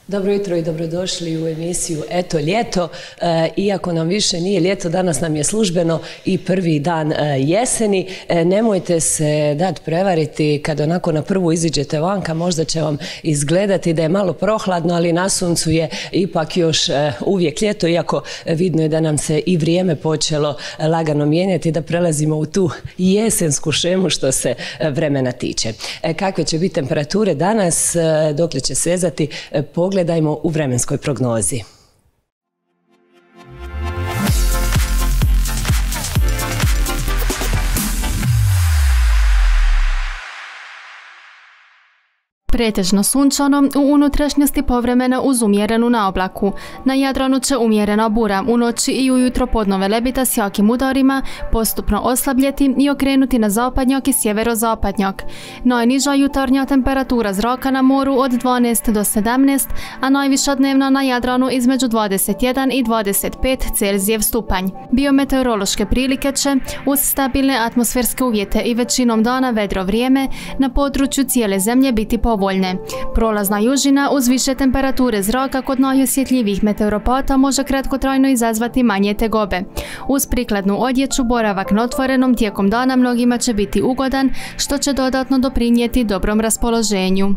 Dobro jutro i dobrodošli u emisiju Eto ljeto. Iako nam više nije ljeto, danas nam je službeno i prvi dan jeseni. Nemojte se dati prevariti kad onako na prvu iziđete vanka, možda će vam izgledati da je malo prohladno, ali na suncu je ipak još uvijek ljeto, iako vidno je da nam se i vrijeme počelo lagano mijenjati, da prelazimo u tu jesensku šemu što se vremena tiče. Kakve će biti temperature danas, dokle će sezati, pogledajmo u vremenskoj prognozi. Pretežno sunčano, u unutrašnjosti povremeno uz umjerenu naoblaku. Na Jadranu će umjerena bura u noći i ujutro podnove lebita s jakim udarima postupno oslabljeti i okrenuti na zapadnjak i sjeverozapadnjak. Najniža jutarnja temperatura zraka na moru od 12 do 17, a najviša dnevna na Jadranu između 21 i 25 Celzijev stupanj. Biometeorološke prilike će, uz stabilne atmosferske uvjete i većinom dana vedro vrijeme, na području cijele zemlje biti povoljne. Prolazna južina uz više temperature zraka kod najosjetljivijih meteoropata može kratkotrajno izazvati manje tegobe. Uz prikladnu odjeću boravak na otvorenom tijekom dana mnogima će biti ugodan, što će dodatno doprinijeti dobrom raspoloženju.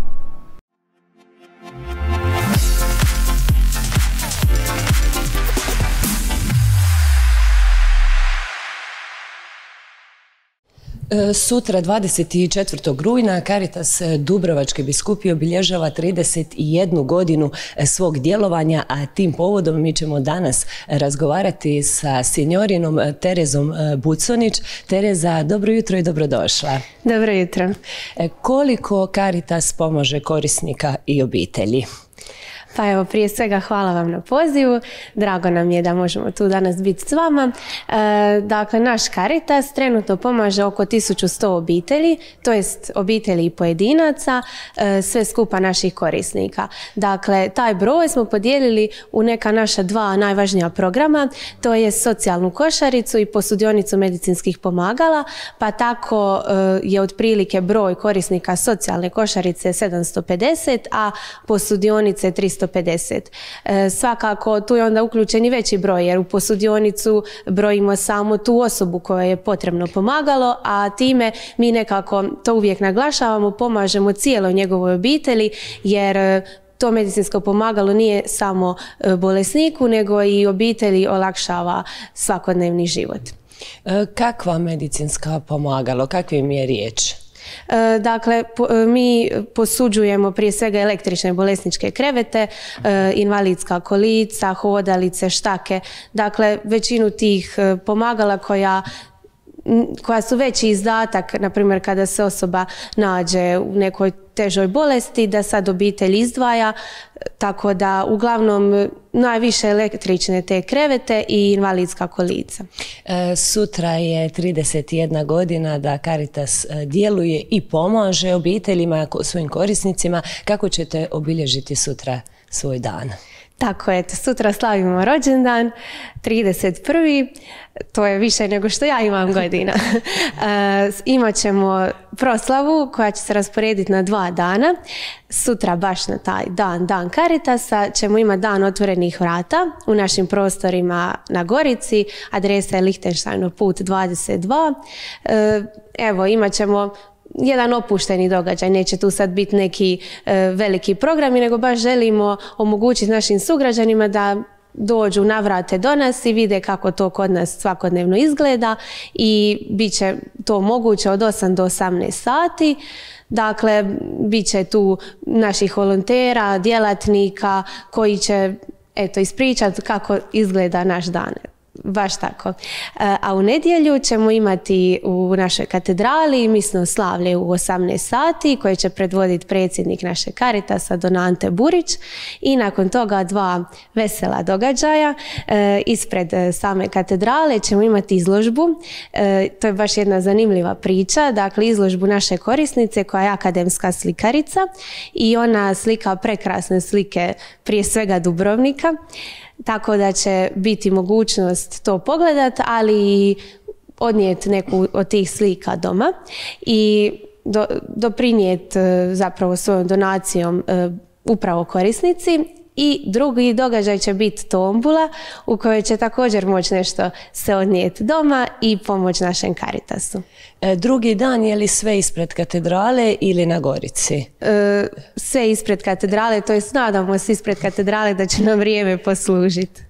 Sutra 24. rujna Caritas Dubrovačke biskupije obilježava 31 godinu svog djelovanja, a tim povodom mi ćemo danas razgovarati sa sinjorinom Terezom Buconić. Tereza, dobro jutro i dobrodošla. Dobro jutro. Koliko Caritas pomaže korisnika i obitelji? Pa evo, prije svega hvala vam na pozivu, drago nam je da možemo tu danas biti s vama. Dakle, naš Caritas trenutno pomaže oko 1100 obitelji, to jest obitelji i pojedinaca, sve skupa naših korisnika. Dakle, taj broj smo podijelili u neka naša dva najvažnija programa, to je socijalnu košaricu i posudionicu medicinskih pomagala, pa tako je otprilike broj korisnika socijalne košarice 750, a posudionice 350. Svakako tu je onda uključen i veći broj, jer u posudionicu brojimo samo tu osobu kojoj je potrebno pomagalo, a time mi nekako to uvijek naglašavamo, pomažemo cijeloj njegovoj obitelji, jer to medicinsko pomagalo nije samo bolesniku, nego i obitelji olakšava svakodnevni život. Kakva medicinska pomagalo, kakvim je riječ? Dakle, mi posuđujemo prije svega električne bolesničke krevete, invalidska kolica, hodalice, štake. Dakle, većinu tih pomagala koja su veći izdatak, na primjer kada se osoba nađe u nekoj težoj bolesti, da sad obitelj izdvaja, tako da uglavnom najviše električne te krevete i invalidska kolica. Sutra je 31 godina da Caritas djeluje i pomaže obiteljima, svojim korisnicima. Kako ćete obilježiti sutra svoj dan? Tako je, sutra slavimo rođendan, 31. To je više nego što ja imam godina. Imat ćemo proslavu koja će se rasporediti na 2 dana. Sutra baš na taj dan Caritasa, ćemo imati dan otvorenih vrata u našim prostorima na Gorici. Adresa je Lichtensteinov put 22. Evo, imat ćemo jedan opušteni događaj, neće tu sad biti neki veliki programi, nego baš želimo omogućiti našim sugrađanima da dođu, navrate do nas i vide kako to kod nas svakodnevno izgleda, i bit će to moguće od 8 do 18 sati. Dakle, bit će tu naših volontera, djelatnika koji će ispričati kako izgleda naš dan. Baš tako. A u nedjelju ćemo imati u našoj katedrali misno slavlje u 18 sati koje će predvoditi predsjednik naše Caritasa Don Ante Burić, i nakon toga 2 vesela događaja. Ispred same katedrale ćemo imati izložbu. To je baš jedna zanimljiva priča. Dakle, izložbu naše korisnice koja je akademska slikarica i ona slika prekrasne slike prije svega Dubrovnika. Tako da će biti mogućnost to pogledati, ali i odnijeti neku od tih slika doma i doprinijeti zapravo svojom donacijom upravo korisnici. I drugi događaj će biti tombula u kojoj će također moći nešto se odnijeti doma i pomoć našem Caritasu. Drugi dan je li sve ispred katedrale ili na Gorici? Sve ispred katedrale, to jest nadamo se ispred katedrale da će nam vrijeme poslužiti.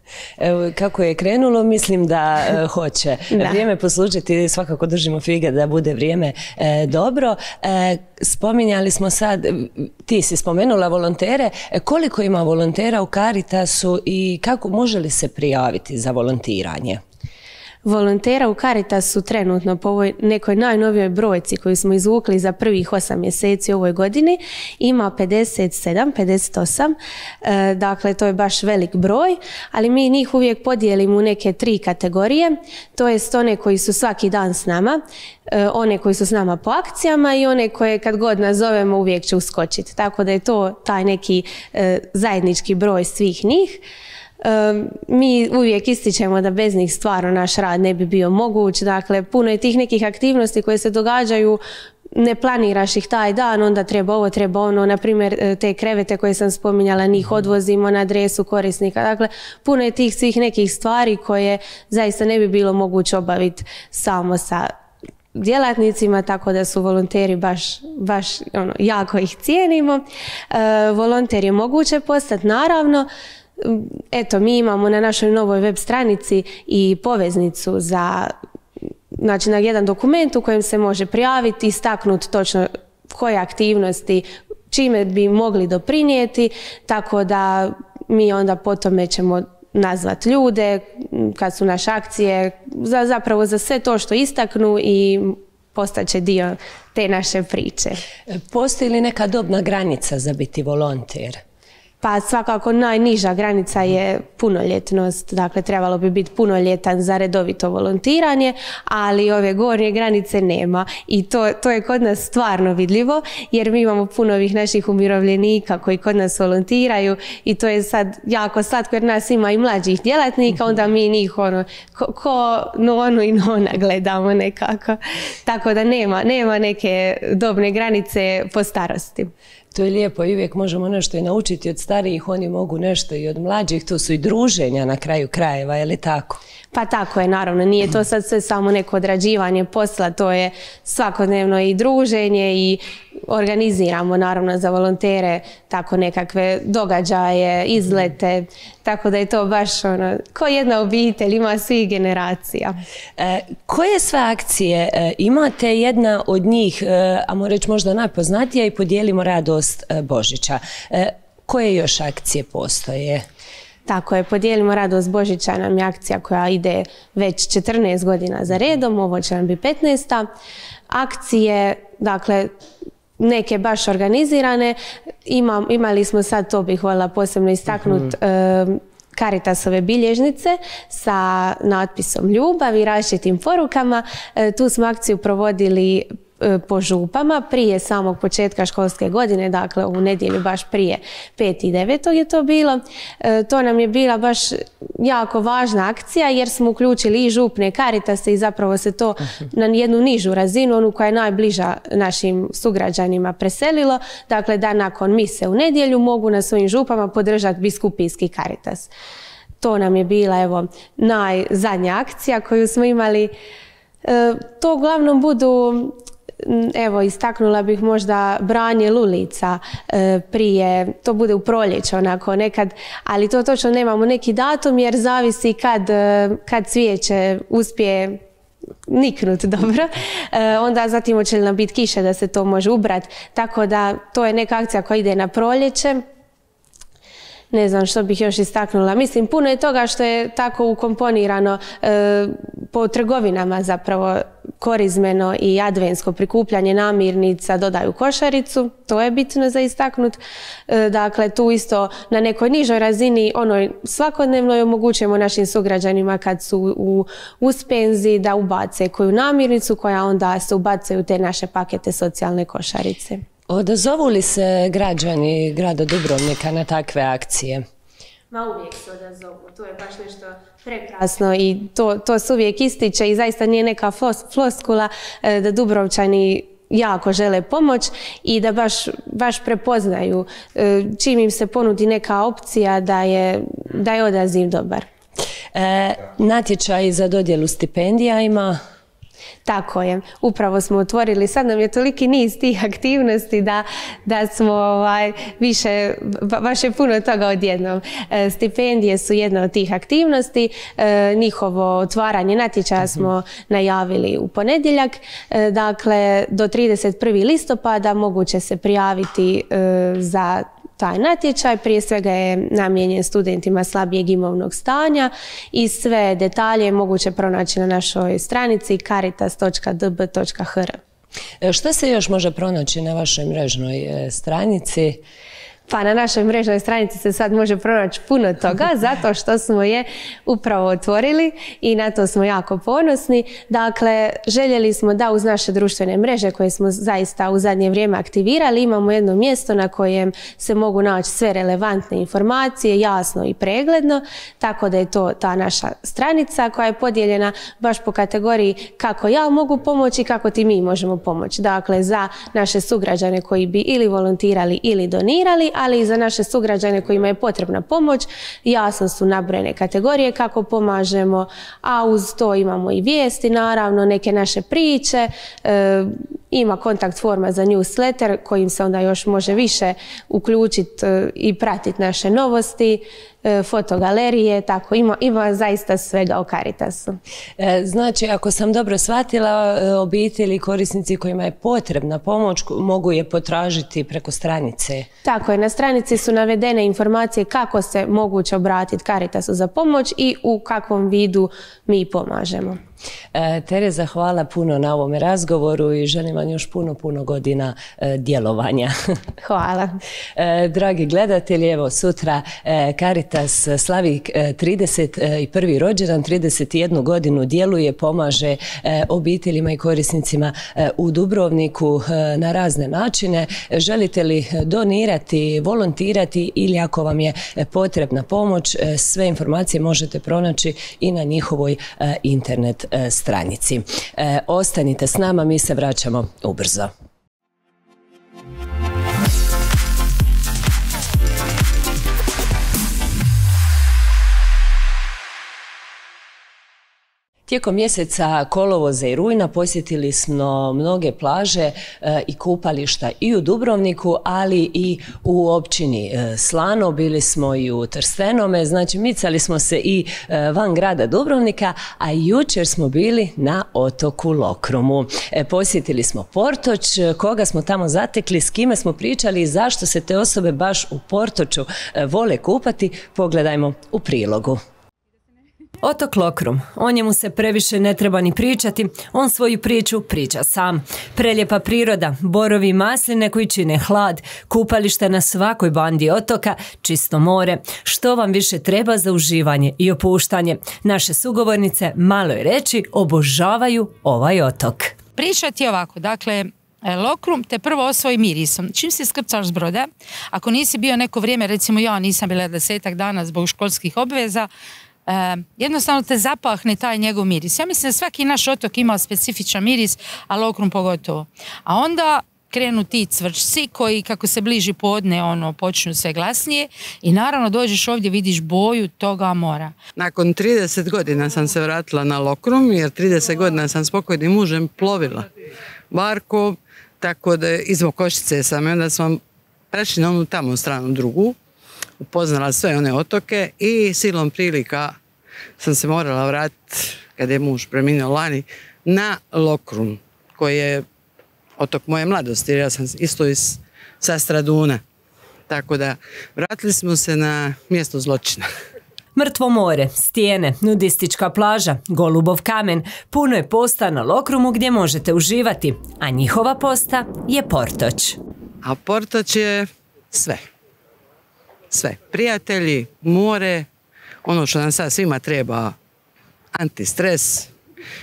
Kako je krenulo, mislim da hoće vrijeme poslužiti, svakako držimo fige da bude vrijeme dobro. Spominjali smo sad, ti si spomenula volontere, koliko ima volontera u Caritasu i kako može li se prijaviti za volontiranje? Volontera u Caritasu trenutno po ovoj nekoj najnovijoj brojci koju smo izvukli za prvih 8 mjeseci u ovoj godini ima 57, 58, dakle to je baš velik broj, ali mi njih uvijek podijelimo u neke 3 kategorije, to jest one koji su svaki dan s nama, one koji su s nama po akcijama i one koje kad god nazovemo uvijek će uskočiti, tako da je to taj neki zajednički broj svih njih. Mi uvijek ističemo da bez njih stvarno naš rad ne bi bio moguć, dakle puno je tih nekih aktivnosti koje se događaju, ne planiraš ih taj dan, onda treba ovo, treba ono, na primjer te krevete koje sam spominjala, njih odvozimo na adresu korisnika, dakle puno je tih svih nekih stvari koje zaista ne bi bilo moguće obaviti samo sa djelatnicima, tako da su volonteri baš jako ih cijenimo. Volonter je moguće postati, naravno. Eto, mi imamo na našoj novoj web stranici i poveznicu znači na jedan dokument u kojem se može prijaviti, istaknuti točno koje aktivnosti, čime bi mogli doprinijeti, tako da mi onda po tome ćemo nazvati ljude kad su naše akcije, zapravo za sve to što istaknu i postaće dio te naše priče. Postoji li neka dobna granica za biti volonter? Pa svakako najniža granica je punoljetnost, dakle trebalo bi biti punoljetan za redovito volontiranje, ali ove gornje granice nema i to je kod nas stvarno vidljivo jer mi imamo puno ovih naših umirovljenika koji kod nas volontiraju i to je sad jako slatko jer nas ima i mlađih djelatnika, onda mi njih ko nonu i nona gledamo nekako, tako da nema neke dobne granice po starosti. To je lijepo i uvijek možemo nešto i naučiti od starijih, oni mogu nešto i od mlađih, tu su i druženja na kraju krajeva, je li tako? Pa tako je, naravno, nije to sad sve samo neko odrađivanje posla, to je svakodnevno i druženje i organiziramo naravno za volontere tako nekakve događaje, izlete, tako da je to baš ko jedna obitelj, ima svih generacija. Koje sve akcije imate? Jedna od njih, a moram reći možda najpoznatija, i Podijelimo radost Božića. Koje još akcije postoje? Tako je, Podijelimo radost Božića nam je akcija koja ide već 14 godina za redom, ovo će nam biti 15. Akcije, dakle, neke baš organizirane, imali smo sad, to bih voljela posebno istaknuti, Caritasove bilježnice sa natpisom ljubav i različitim porukama. Tu smo akciju provodili po župama prije samog početka školske godine, dakle u nedjelju baš prije 5.9. je to bilo. To nam je bila baš jako važna akcija jer smo uključili i župne Caritase i zapravo se to na jednu nižu razinu, onu koja je najbliža našim sugrađanima preselilo, dakle da nakon mise u nedjelju mogu na svojim župama podržati biskupijski Caritas. To nam je bila evo najzadnja akcija koju smo imali. To uglavnom budu, evo istaknula bih možda branje lulica prije, to bude u proljeće onako nekad, ali to točno nemamo neki datum jer zavisi kad cvijeće uspije niknut dobro, onda zatim hoće li nam biti kiše da se to može ubrati, tako da to je neka akcija koja ide na proljeće. Ne znam što bih još istaknula. Mislim, puno je toga što je tako ukomponirano po trgovinama zapravo korizmeno i adventsko prikupljanje namirnica dodaju košaricu. To je bitno za istaknut. Dakle, tu isto na nekoj nižoj razini, onoj svakodnevnoj omogućujemo našim sugrađanima kad su u uspenziji da ubace koju namirnicu koja onda se ubacuje u te naše pakete socijalne košarice. Odazovu li se građani grada Dubrovnika na takve akcije? Ma uvijek se odazovu, to je baš nešto prekrasno i to se uvijek ističe i zaista nije neka floskula da Dubrovčani jako žele pomoć i da baš prepoznaju čim im se ponudi neka opcija da je odaziv dobar. Natječaj za dodjelu stipendija ima? Tako je, upravo smo otvorili, sad nam je toliki niz tih aktivnosti da smo više, baš je puno toga odjednom. Stipendije su jedna od tih aktivnosti, njihovo otvaranje natječaja smo najavili u ponedjeljak, dakle do 31. listopada moguće se prijaviti za taj natječaj, prije svega je namijenjen studentima slabijeg imovnog stanja i sve detalje je moguće pronaći na našoj stranici caritas.db.hr. Što se još može pronaći na vašoj mrežnoj stranici? Pa na našoj mrežnoj stranici se sad može pronaći puno toga zato što smo je upravo otvorili i na to smo jako ponosni. Dakle, željeli smo da uz naše društvene mreže koje smo zaista u zadnje vrijeme aktivirali imamo jedno mjesto na kojem se mogu naći sve relevantne informacije, jasno i pregledno, tako da je to ta naša stranica koja je podijeljena baš po kategoriji kako ja mogu pomoći i kako ti mi možemo pomoći. Dakle, za naše sugrađane koji bi ili volontirali ili donirali, ali i za naše sugrađane kojima je potrebna pomoć, jasno su nabrojene kategorije kako pomažemo, a uz to imamo i vijesti, naravno, neke naše priče, ima kontakt forma za newsletter kojim se onda još može više uključiti i pratiti naše novosti, fotogalerije, tako ima zaista svega o Caritasu. Znači, ako sam dobro shvatila, obitelji i korisnici kojima je potrebna pomoć mogu je potražiti preko stranice. Tako je, na stranici su navedene informacije kako se moguće obratiti Caritasu za pomoć i u kakvom vidu mi pomažemo. Tereza, hvala puno na ovome razgovoru i želim vam još puno godina djelovanja. Hvala. Dragi gledatelji, evo sutra Caritas slavi 31. rođendan, 31 godinu djeluje, pomaže obiteljima i korisnicima u Dubrovniku na razne načine. Želite li donirati, volontirati ili ako vam je potrebna pomoć, sve informacije možete pronaći i na njihovoj internet stranici. Ostanite s nama, mi se vraćamo ubrzo. Tijekom mjeseca kolovoza i rujna posjetili smo mnoge plaže i kupališta i u Dubrovniku, ali i u općini Slano, bili smo i u Trstenome, znači micali smo se i van grada Dubrovnika, a jučer smo bili na otoku Lokrumu. Posjetili smo Portoč, koga smo tamo zatekli, s kime smo pričali i zašto se te osobe baš u Portoču vole kupati, pogledajmo u prilogu. Otok Lokrum, o njemu se previše ne treba ni pričati, on svoju priču priča sam. Prelijepa priroda, borovi i masline koji čine hlad, kupalište na svakoj bandi otoka, čisto more. Što vam više treba za uživanje i opuštanje? Naše sugovornice, malo je reći, obožavaju ovaj otok. Pričati ovako, dakle, Lokrum te prvo osvoji mirisom. Čim se skrcaš s broda, ako nisi bio neko vrijeme, recimo ja nisam bila 10 dana zbog školskih obveza, jednostavno te zapahne taj njegov miris. Ja mislim da svaki naš otok ima specifičan miris, a Lokrum pogotovo. A onda krenu ti cvrčci koji kako se bliži podne počnu sve glasnije i naravno dođeš ovdje, vidiš boju toga mora. Nakon 30 godina sam se vratila na Lokrum jer 30 godina sam s pokojnim mužem plovila barkom, tako da iz Mokošice sam i onda smo prešli na onu tamo stranu drugu, upoznala sve one otoke i silom prilika sam se morala vratiti, kad je muž preminuo lani, na Lokrum, koji je otok moje mladosti, jer ja sam isto sa Straduna. Tako da vratili smo se na mjesto zločina. Mrtvo more, stijene, nudistička plaža, Golubov kamen, puno je posta na Lokrumu gdje možete uživati, a njihova posta je Portoč. A Portoč je sve. Sve. Prijatelji, more, ono što nam sad svima treba, antistres.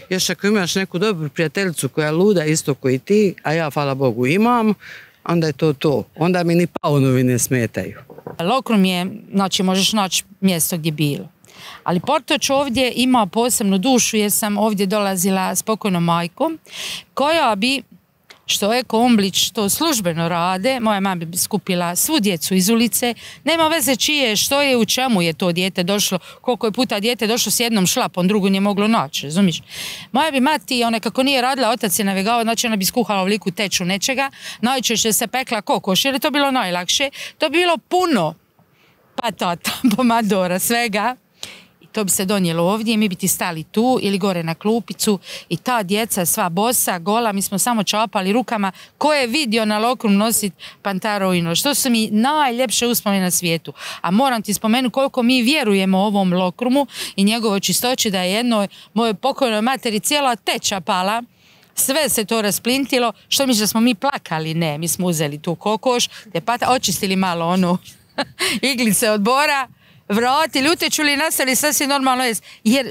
Još ako imaš neku dobru prijateljicu koja luda isto koji ti, a ja, hvala Bogu, imam, onda je to. Onda mi ni paunovi ne smetaju. Lokrum je, znači možeš naći mjesto gdje bilo. Ali Portoč ovdje ima posebnu dušu jer sam ovdje dolazila s pokojnom majkom koja bi što Eko Omblić to službeno rade, moja mama bi skupila svu djecu iz ulice, nema veze čije, što je, u čemu je to dijete došlo, koliko je puta dijete došlo s jednom šlapom, drugu nije moglo naći, razumiš? Moja bi mati, ona kako nije radila, otac je navegao, znači ona bi skuhala veliku teču nečega, najčešće se pekla kokoš, jer je to bilo najlakše, to bi bilo puno patata, pomadora, svega. To bi se donijelo ovdje, mi bi ti stali tu ili gore na klupicu i ta djeca sva bosa, gola, mi smo samo čapali rukama. Ko je vidio na Lokrum nositi pantarovino? Što su mi najljepše uspomene na svijetu. A moram ti spomenuti koliko mi vjerujemo ovom Lokrumu i njegovoj čistoći, da je jednoj mojoj pokojnoj materi cijela teča pala. Sve se to rasplintilo. Što misliš da smo mi plakali? Ne, mi smo uzeli tu kokoš, te očistili malo onu iglice od bora, vratili, utečuli i nastavili sasvim normalno jest. Jer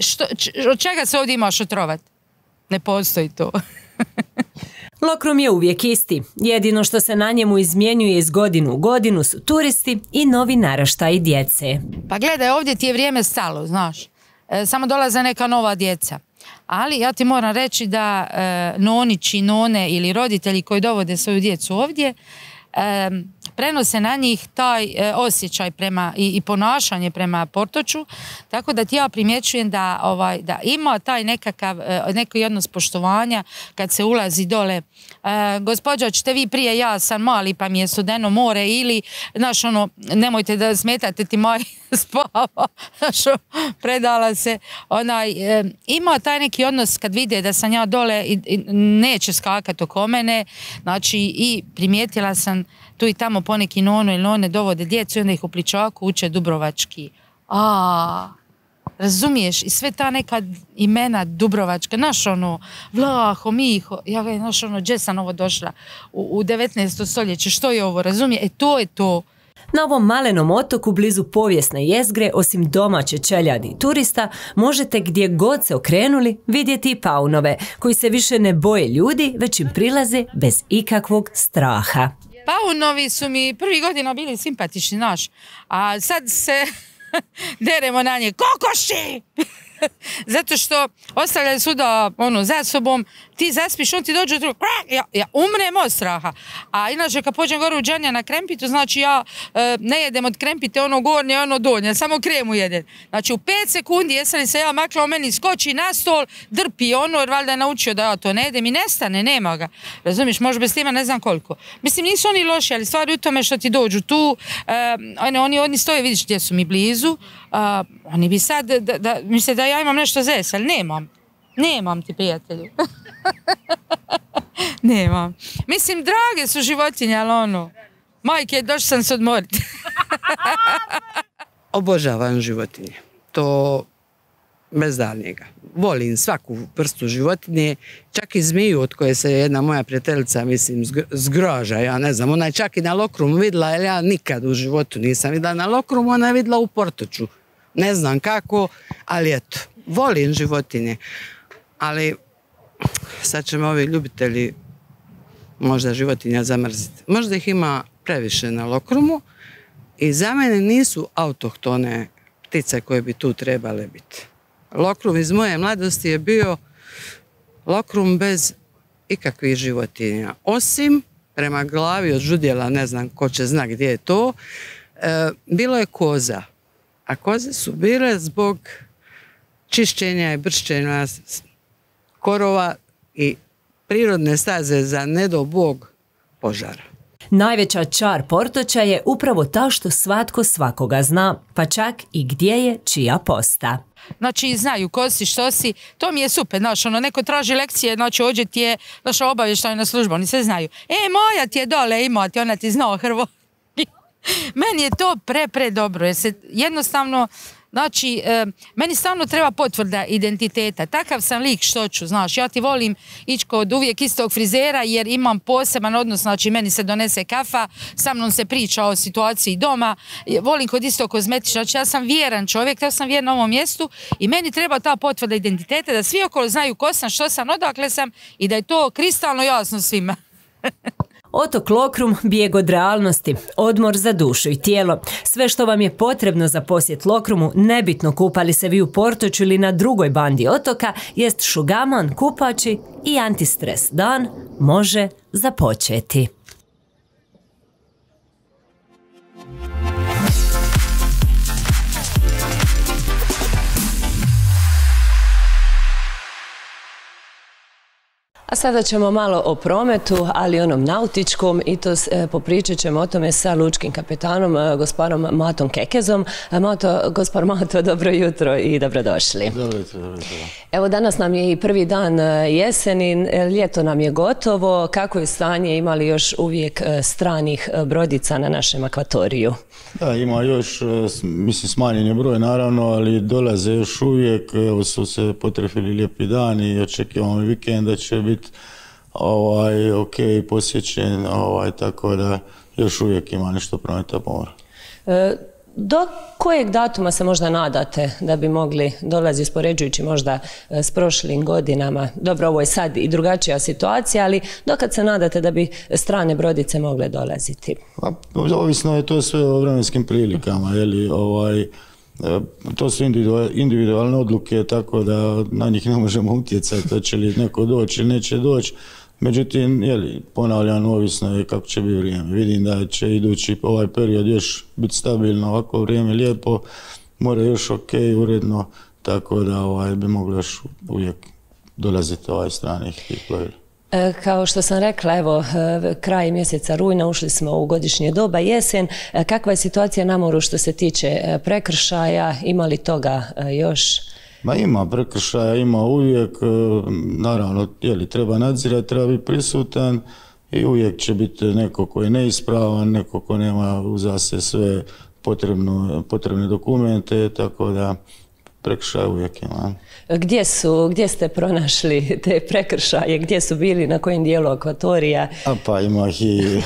od čega se ovdje imaš otrovat? Ne postoji to. Lokrum je uvijek isti. Jedino što se na njemu izmjenjuje iz godinu u godinu su turisti i novi naraštaji djece. Pa gledaj, ovdje ti je vrijeme stalo, znaš. Samo dolaze neka nova djeca. Ali ja ti moram reći da nonići, none ili roditelji koji dovode svoju djecu ovdje, prenose na njih taj osjećaj prema i ponašanje prema Portoču, tako da ti ja primjećujem da ima taj neki odnos poštovanja kad se ulazi dole. Gospođo, ćete vi prije, ja sam mali pa mi je studeno more, ili, znaš, ono, nemojte da smetate, ti moj spava, znaš, predala se. Ima taj neki odnos kad vide da sam ja dole i neće skakati oko mene, znači, i primijetila sam tu i tamo poneki nono ili none dovode djecu i onda ih u pličaku uče dubrovački. Razumiješ? I sve ta neka imena dubrovačka, znaš ono, Vlaho, Miho, ja ga znaš ono, gdje sam ovo došla u 19. stoljeće, što je ovo, razumije? To je to. Na ovom malenom otoku blizu povijesne jezgre, osim domaće čeljadi i turista, možete gdje god se okrenuli vidjeti i paunove, koji se više ne boje ljudi, već im prilaze bez ikakvog straha. Paunovi su mi prvih godina bili simpatični, znaš, a sad se deremo na nje, kokoši! Zato što ostavljaju svuda za sobom, ti zaspiš, on ti dođe, ja umrem od straha. A inače kad pođem gore u Đanja na krempitu, znači ja ne jedem od krempite ono gornje, ono donje, samo kremu jedem. Znači u 5 sekundi jesam li se ja makla, o meni skoči na stol, drpi ono, jer valjda je naučio da ja to ne jedem i nestane, nema ga. Razumiješ, može bez tima ne znam koliko. Mislim, nisu oni loši, ali stvari u tome što ti dođu tu, oni stoje, vidiš gdje su mi blizu, oni bi sad, misle da ja imam nešto zes, ali nemam ti, prijatelju. Nemam. Mislim, drage su životinje, ali ono, majke, došla sam se odmoriti. Obožavam životinje. To bez daljnjega. Volim svaku vrstu životinje, čak i zmiju od koje se jedna moja prijateljica, mislim, zgroža, ja ne znam, ona je čak i na Lokrumu vidjela, jer ja nikad u životu nisam vidjela na Lokrumu, ona je vidjela u Portoču. Ne znam kako, ali eto, volim životinje. Ali sad će me ovi ljubitelji možda životinja zamrziti. Možda ih ima previše na Lokrumu i za mene nisu autohtone ptice koje bi tu trebale biti. Lokrum iz moje mladosti je bio Lokrum bez ikakvih životinja. Osim prema glavi od žudjela, ne znam ko će zna gdje je to, bilo je koza. A koze su bile zbog čišćenja i bršćenja korova i prirodne staze za ne do Bog požara. Najveća čar Portoča je upravo ta što svatko svakoga zna, pa čak i gdje je čija posta. Znači, znaju ko si, što si, to mi je super, znaš, neko traži lekcije, znači, ođe ti je, znaš, obavještajna služba, oni sve znaju. Moja ti je dole, ima ti, ona ti zna Hrvo. Meni je to pre dobro, jer se jednostavno, znači, meni stvarno treba potvrda identiteta. Takav sam lik što ću, znaš, ja ti volim ići kod uvijek istog frizera jer imam poseban odnos, znači meni se donese kafa, sa mnom se priča o situaciji doma, volim kod istog kozmetičara, znači ja sam vjeran čovjek, ja sam vjeran ovom mjestu i meni treba ta potvrda identiteta da svi okolo znaju ko sam, što sam, odakle sam i da je to kristalno jasno svima. Otok Lokrum, bijeg od realnosti, odmor za dušu i tijelo. Sve što vam je potrebno za posjet Lokrumu, nebitno kupali se vi u Portoču ili na drugoj bandi otoka, jest šugamon, kupači i antistres. Dan može započeti. A sada ćemo malo o prometu, ali onom nautičkom, i to popričat ćemo o tome sa lučkim kapetanom, gospodom Matom Kekezom. Gospar Mato, dobro jutro i dobrodošli. Dobro jutro. Evo, danas nam je i prvi dan jeseni, ljeto nam je gotovo. Kako je stanje, ima li još uvijek stranih brodica na našem akvatoriju? Da, ima još, mislim, smanjen je broj naravno, ali dolaze još uvijek. Evo su se potrefili lijepi dani i očekivamo vikend da će biti ok, posjećen, tako da još uvijek ima nešto prometa po moru. Do kojeg datuma se možda nadate da bi mogli dolaziti, uspoređujući možda s prošlim godinama? Dobro, ovo je sad i drugačija situacija, ali dokad se nadate da bi strane brodice mogle dolaziti? Ovisno je to sve o vremenskim prilikama, to su individualne odluke, tako da na njih ne možemo utjecati, hoće li neko doći ili neće doći. Međutim, ponavljam, ovisno je kako će biti vrijeme. Vidim da će idući ovaj period još biti stabilno, ovako vrijeme lijepo, more još ok, uredno, tako da bi mogli još uvijek dolaziti stranih plovila. Kao što sam rekla, evo, kraj mjeseca rujna ušli smo u godišnje doba, jesen. Kakva je situacija na moru što se tiče prekršaja? Ima li toga još? Ima prekršaja, ima uvijek, naravno, treba nadzirati, treba biti prisutan i uvijek će biti neko ko je neispravan, neko ko nema uza se sve potrebne dokumente, tako da prekršaja uvijek ima. Gdje ste pronašli te prekršaje, gdje su bili, na kojem dijelu akvatorija? Pa ima ih i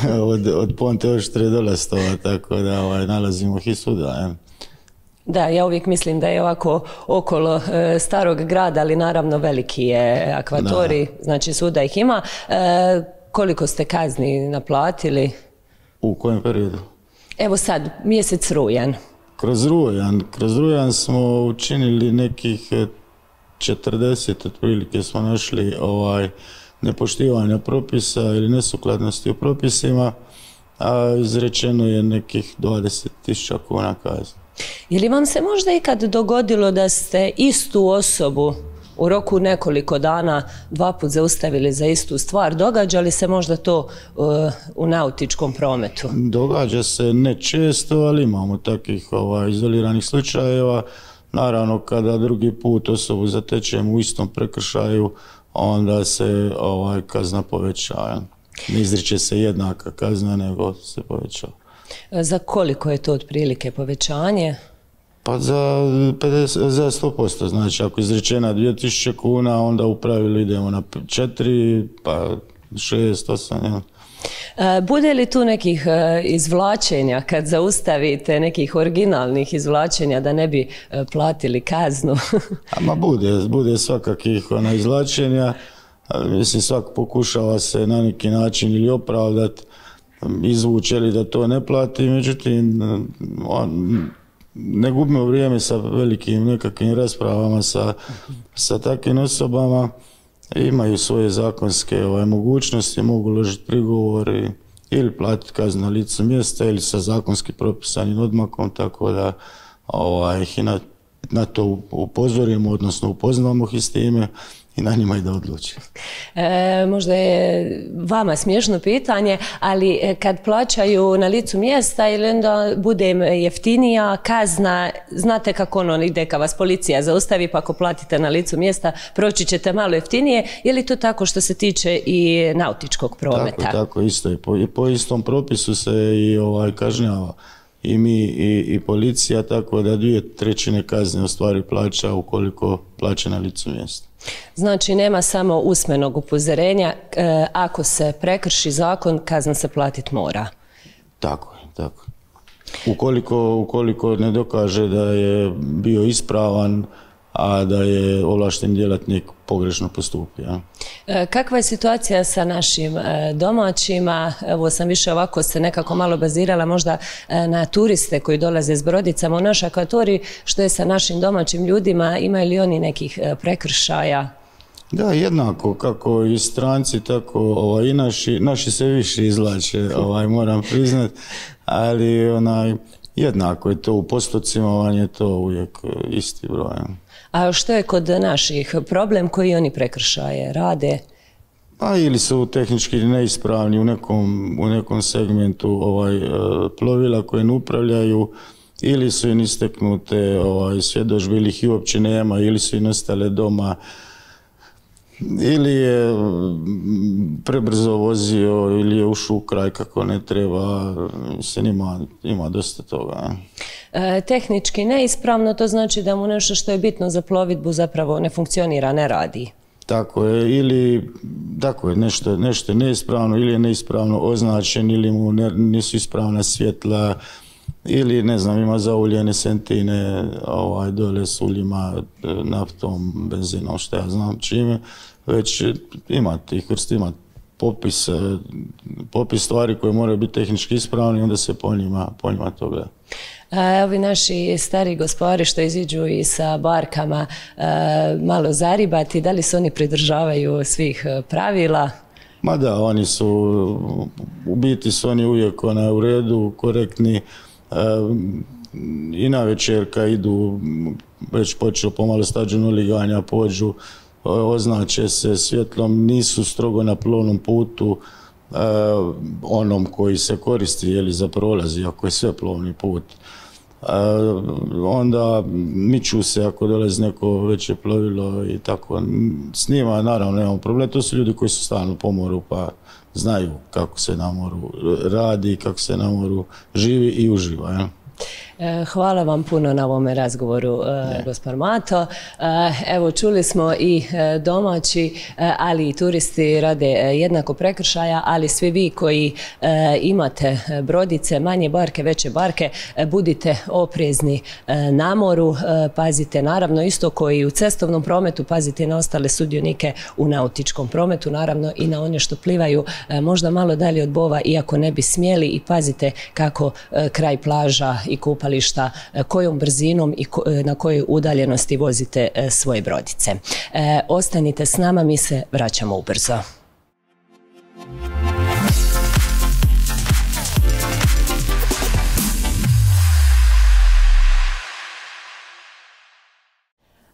od Ponte Oštre do Lastova, tako da nalazimo ih i svuda. Da, ja uvijek mislim da je ovako okolo starog grada, ali naravno veliki je akvatorij, znači svuda ih ima. Koliko ste kazni naplatili? U kojem periodu? Evo sad, mjesec rujan. Kroz rujan smo učinili nekih 40 otprilike smo našli nepoštivanja propisa ili nesukladnosti u propisima, a izrečeno je nekih 20.000 kuna kazni. Je li vam se možda ikad dogodilo da ste istu osobu u roku nekoliko dana dva put zaustavili za istu stvar? Događa li se možda to u nautičkom prometu? Događa se ne često, ali imamo takvih izoliranih slučajeva. Naravno, kada drugi put osobu zatečemo u istom prekršaju, onda se kazna povećava. Ne izriče se jednaka kazna, nego se povećava. Za koliko je to otprilike povećanje? Pa za 100%, znači ako je izrečena 2.000 kuna, onda u pravilu idemo na 4, pa 6, 8, Bude li tu nekih izvlačenja kad zaustavite, nekih originalnih izvlačenja da ne bi platili kaznu? Ama bude svakakih izvlačenja, mislim svak pokušava se na neki način ili opravdati, izvući ili da to ne plati, međutim ne gubimo vrijeme sa velikim nekakvim raspravama sa takvim osobama, imaju svoje zakonske mogućnosti, mogu uložiti prigovor ili platiti kaznu na licu mjesta ili sa zakonski propisanim odmakom, tako da ih na to upozorimo, odnosno upoznamo ih s time i na njima i da odluči. Možda je vama smiješno pitanje, ali kad plaćaju na licu mjesta ili onda bude im jeftinija kazna, znate kako ono ide kad vas policija zaustavi, pa ako platite na licu mjesta proći ćete malo jeftinije, je li to tako što se tiče i nautičkog prometa? Tako isto je. Po istom propisu se i kažnjava i mi i policija, tako da 2/3 kazne u stvari plaća ukoliko plaća na licu mjesta. Znači nema samo usmenog upozorenja, ako se prekrši zakon, kazna se platit mora. Tako je. Ukoliko ne dokaže da je bio ispravan, a da je ovlašteni djelatnik pogrešno postupio. Kakva je situacija sa našim domaćima? Evo sam više ovako se nekako malo bazirala možda na turiste koji dolaze s brodicama u naš akvatorij. Što je sa našim domaćim ljudima? Imaju li oni nekih prekršaja? Da, jednako kako i stranci, tako i naši se više izvlače, moram priznat, ali jednako je to u postocima, vam je to uvijek isti broj. A što je kod naših problem koji oni prekršaje rade? Pa ili su tehnički neispravni u nekom segmentu plovila koje ne upravljaju, ili su im isteknute svjedodžbe, ili ih i uopće nema, ili su im ostale doma, ili je prebrzo vozio, ili je ušao u kraj kako ne treba. Mislim, ima dosta toga. Tehnički neispravno, to znači da mu nešto što je bitno za plovidbu zapravo ne funkcionira, ne radi. Tako je, ili nešto je neispravno, ili je neispravno označen, ili mu nisu ispravna svjetla, ili ne znam, ima zauljene sentine dole s uljima, naftom, benzinom, što ja znam čime. Već ima tih vrsti, ima popis stvari koje moraju biti tehnički ispravni, onda se po njima to gleda. Ovi naši stari gospodari što iziđu i sa barkama malo zaribati, da li se oni pridržavaju svih pravila? Ma da, oni su, u biti su oni uvijek u redu, korektni. I na večer kad idu, već počeo pomalo stađeno liganja, pođu, označe se svjetlom, nisu strogo na plovnom putu onom koji se koristi za prolaz, ako je sve plovni put. Onda miču se ako dolazi neko veće plovilo i tako. S njima naravno nemamo problem, to su ljudi koji su stalno po moru pa znaju kako se na moru radi, kako se na moru živi i uživa. Hvala vam puno na ovome razgovoru, gospod Mato. Evo, čuli smo i domaći, ali i turisti rade jednako prekršaja, ali svi vi koji imate brodice, manje barke, veće barke, budite oprezni na moru, pazite naravno isto koji u cestovnom prometu, pazite na ostale sudionike u nautičkom prometu, naravno i na one što plivaju možda malo dalje od bova, iako ne bi smjeli, i pazite kako kraj plaža i kupališta, kojom brzinom i na kojoj udaljenosti vozite svoje brodice. Ostanite s nama, mi se vraćamo ubrzo.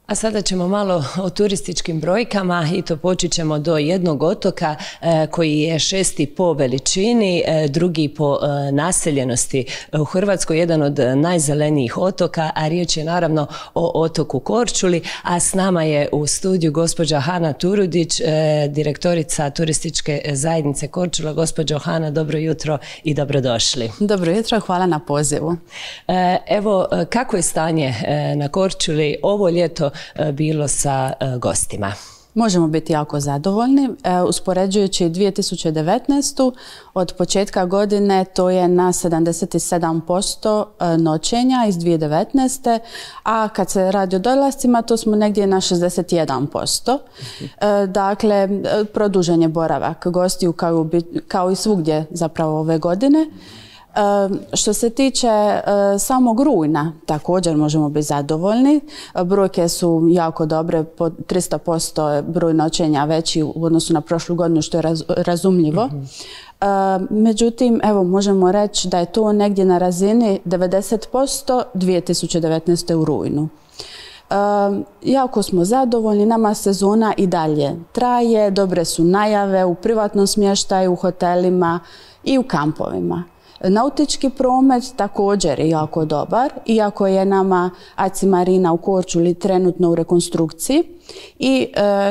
A sada ćemo malo o turističkim brojkama i to počet ćemo do jednog otoka koji je 6. po veličini, drugi po naseljenosti u Hrvatskoj, jedan od najzelenijih otoka, a riječ je naravno o otoku Korčuli, a s nama je u studiju gospođa Hana Turudić, direktorica turističke zajednice Korčula. Gospođo Hana, dobro jutro i dobrodošli. Dobro jutro, hvala na pozivu. Evo, kako je stanje na Korčuli ovo ljeto bilo sa gostima? Možemo biti jako zadovoljni. Uspoređujući 2019. od početka godine to je na 77% noćenja iz 2019. A kad se radi o dolascima to smo negdje na 61%. Dakle, produžen je boravak gostiju kao i svugdje zapravo ove godine. Što se tiče samog rujna, također možemo biti zadovoljni. Brojke su jako dobre, po 300% broj noćenja veći u odnosu na prošlu godinu, što je razumljivo. Međutim, evo, možemo reći da je to negdje na razini 90% 2019. u rujnu. Jako smo zadovoljni, nama sezona i dalje traje, dobre su najave u privatnom smještaju, u hotelima i u kampovima. Nautički promet također je jako dobar, iako je nama ACI Marina u Korčuli trenutno u rekonstrukciji i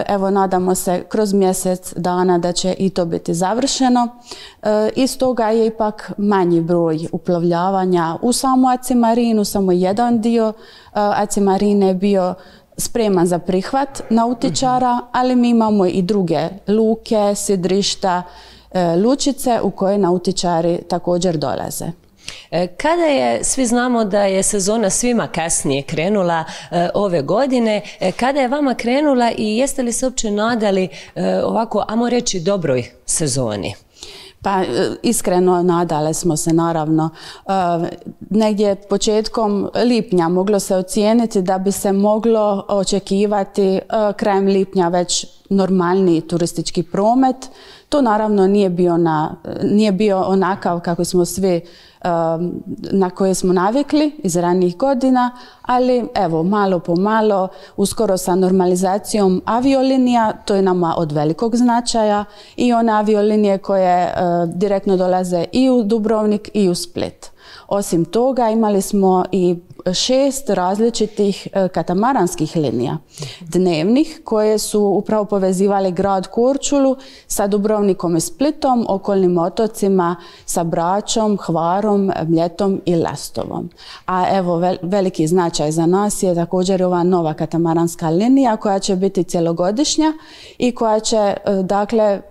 evo nadamo se kroz mjesec dana da će i to biti završeno. Iz toga je ipak manji broj uplovljavanja u samu ACI Marinu, samo jedan dio ACI Marine je bio spreman za prihvat nautičara, ali mi imamo i druge luke, sidrišta, lučice u koje nautičari također dolaze. Kada je, svi znamo da je sezona svima kasnije krenula ove godine, kada je vama krenula i jeste li se uopće nadali ovako, ajmo reći, dobroj sezoni? Pa iskreno nadale smo se, naravno. Negdje početkom lipnja moglo se ocijeniti da bi se moglo očekivati krajem lipnja već normalniji turistički promet. To naravno nije bio onakav kako smo svi na koje smo navikli iz ranijih godina, ali evo, malo po malo, uskoro sa normalizacijom aviolinija, to je nama od velikog značaja, i one aviolinije koje direktno dolaze i u Dubrovnik i u Split. Osim toga, imali smo i 6 različitih katamaranskih linija dnevnih koje su upravo povezivali grad Korčulu sa Dubrovnikom i Splitom, okolnim otocima, sa Bračom, Hvarom, Mljetom i Lastovom. A evo, veliki značaj za nas je također ova nova katamaranska linija koja će biti cjelogodišnja i koja će, dakle,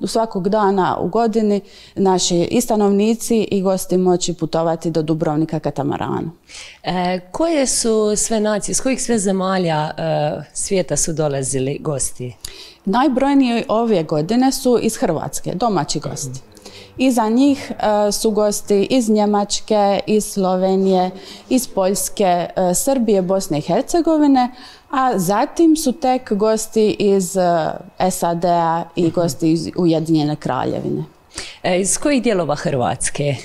svakog dana u godini naši i stanovnici i gosti moći putovati do Dubrovnika katamaranom. Koje su sve nacije, iz kojih sve zemalja svijeta su dolazili gosti? Najbrojniji ove godine su iz Hrvatske, domaći gosti. Iza njih su gosti iz Njemačke, iz Slovenije, iz Poljske, Srbije, Bosne i Hercegovine, a zatim su tek gosti iz SAD-a i gosti iz Ujedinjene Kraljevine. Iz kojih dijelova Hrvatske?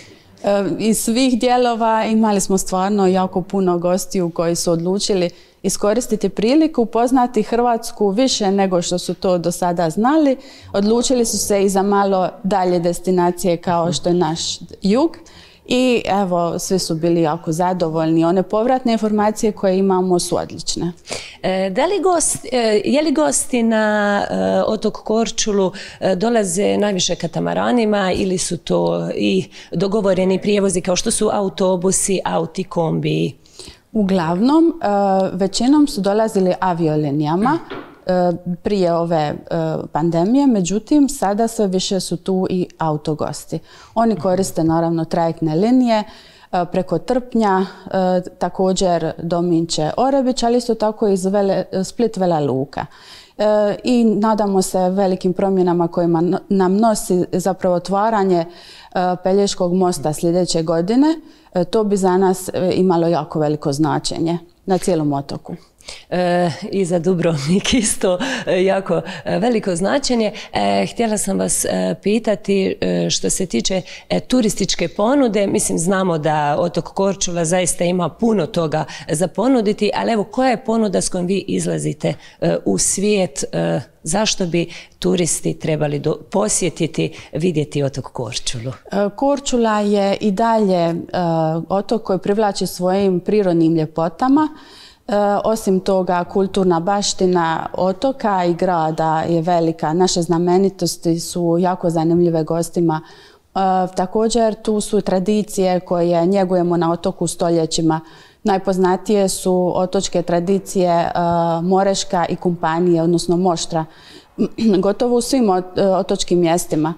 Iz svih dijelova imali smo stvarno jako puno gostiju koji su odlučili iskoristiti priliku, upoznati Hrvatsku više nego što su to do sada znali. Odlučili su se i za malo dalje destinacije kao što je naš jug. I evo, svi su bili jako zadovoljni. One povratne informacije koje imamo su odlične. Je li gosti na otok Korčulu dolaze najviše katamaranima ili su to i dogovoreni prijevozi kao što su autobusi, auti, kombiji? Uglavnom, većinom su dolazili aviolinijama prije ove pandemije, međutim sada sve više su tu i autogosti. Oni koriste naravno trajektne linije preko Trpnja, također do Minče Orebić, ali isto tako iz Split Vela Luka. I nadamo se velikim promjenama kojima nam nosi zapravo otvaranje Pelješkog mosta sljedeće godine. To bi za nas imalo jako veliko značenje na cijelom otoku. I za Dubrovnik isto jako veliko značenje. Htjela sam vas pitati što se tiče turističke ponude. Mislim, znamo da otok Korčula zaista ima puno toga za ponuditi, ali evo, koja je ponuda s kojom vi izlazite u svijet? Zašto bi turisti trebali posjetiti, vidjeti otok Korčulu? Korčula je i dalje otok koji privlači svojim prirodnim ljepotama. Osim toga, kulturna baština otoka i grada je velika. Naše znamenitosti su jako zanimljive gostima. Također, tu su tradicije koje njegujemo na otoku stoljećima. Najpoznatije su otočke tradicije Moreška i Kumpanije, odnosno Moštra, gotovo u svim otočkim mjestima.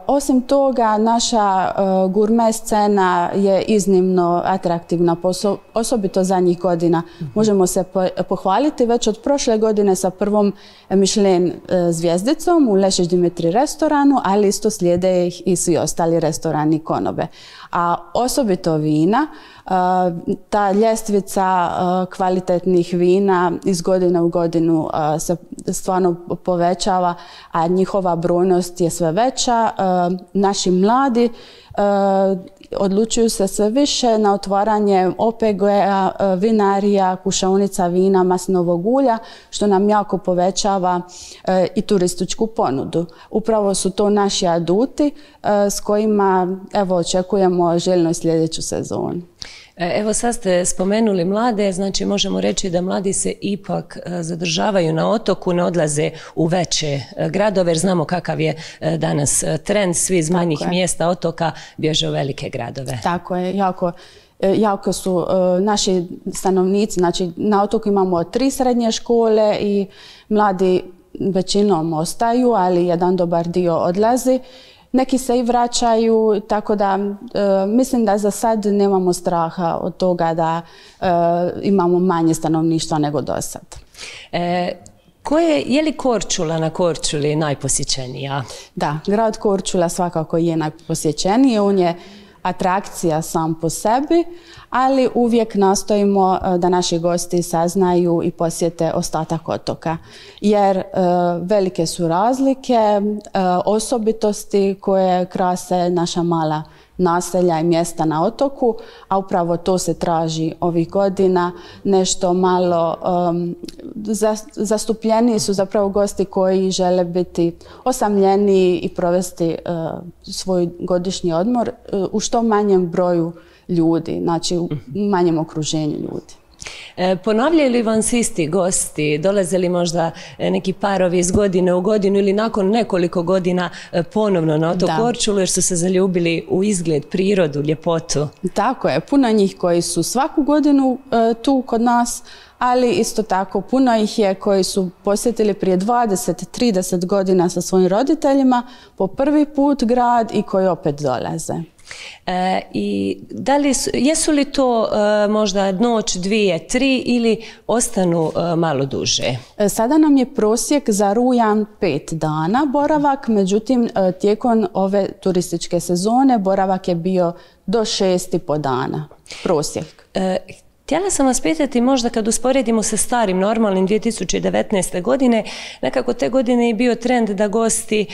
Osim toga, naša gurme scena je iznimno atraktivna, osobito zadnjih godina. Možemo se pohvaliti već od prošle godine sa prvom Michelin zvijezdicom u Lešić Dimitri restoranu, ali isto slijede ih i svi ostali restorani i konobe. A osobito vina, ta ljestvica kvalitetnih vina iz godine u godinu se stvarno povećava, a njihova brojnost je sve veća. Naši mladi odlučuju se sve više na otvaranje OPG-a, vinarija, kušaonica vina, maslinovog ulja, što nam jako povećava i turističku ponudu. Upravo su to naši aduti s kojima evo, očekujemo željno sljedeću sezonu. Evo, sad ste spomenuli mlade, znači možemo reći da mladi se ipak zadržavaju na otoku, ne odlaze u veće gradove, jer znamo kakav je danas trend, svi iz manjih mjesta otoka bježe u velike gradove. Tako je, jako su naši stanovnici, znači na otoku imamo 3 srednje škole i mladi većinom ostaju, ali jedan dobar dio odlazi. neki se i vraćaju, tako da mislim da za sad nemamo straha od toga da imamo manje stanovništva nego do sad. Je li Korčula na Korčuli najposjećenija? Da, grad Korčula svakako je najposjećeniji, on je atrakcija sam po sebi, ali uvijek nastojimo da naši gosti saznaju i posjete ostatak otoka. Jer velike su razlike, osobitosti koje krase naša mala naselja i mjesta na otoku, a upravo to se traži ovih godina. Nešto malo zastupljeniji su zapravo gosti koji žele biti osamljeniji i provesti svoj godišnji odmor u što manjem broju ljudi, znači u manjem okruženju ljudi. Ponavljaju li vam se isti gosti? Dolaze li možda neki parovi iz godine u godinu ili nakon nekoliko godina ponovno na otok Korčulu jer su se zaljubili u izgled, prirodu, ljepotu? Tako je, puno njih koji su svaku godinu tu kod nas, ali isto tako puno ih je koji su posjetili prije 20-30 godina sa svojim roditeljima po prvi put grad i koji opet dolaze. I jesu li to možda noć, 2, 3 ili ostanu malo duže? Sada nam je prosjek za rujan 5 dana boravak, međutim tijekom ove turističke sezone boravak je bio do 6,5 dana prosjek. Htjela sam vas pitati, možda kad usporedimo sa starim, normalnim 2019. godine, nekako te godine je bio trend da gosti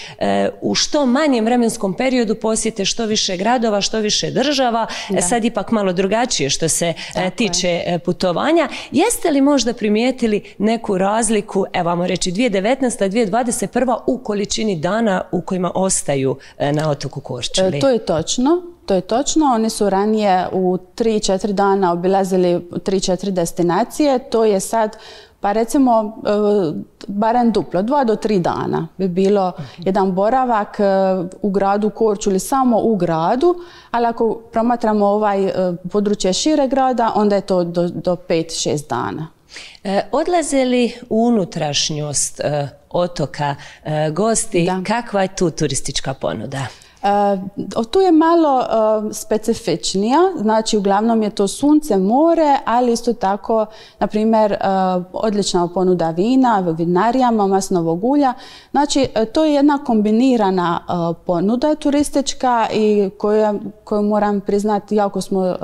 u što manjem vremenskom periodu posjete što više gradova, što više država, sad ipak malo drugačije što se tiče putovanja. Jeste li možda primijetili neku razliku, evo vamo reći 2019. 2021. u količini dana u kojima ostaju na otoku Korčuli? To je točno. To je točno, oni su ranije u 3-4 dana obilazili 3-4 destinacije, to je sad, pa recimo, barem duplo, 2 do 3 dana bi bilo jedan boravak u gradu Korčuli, samo u gradu, ali ako promatramo ovaj područje šire grada, onda je to do 5-6 dana. Odlaze li u unutrašnjost otoka gosti, kakva je tu turistička ponuda? Tu je malo specifičnija, znači uglavnom je to sunce, more, ali isto tako, na primjer, odlična ponuda vina, vinarijama, masnovog ulja. Znači, to je jedna kombinirana ponuda turistička i koju moram priznati jako smo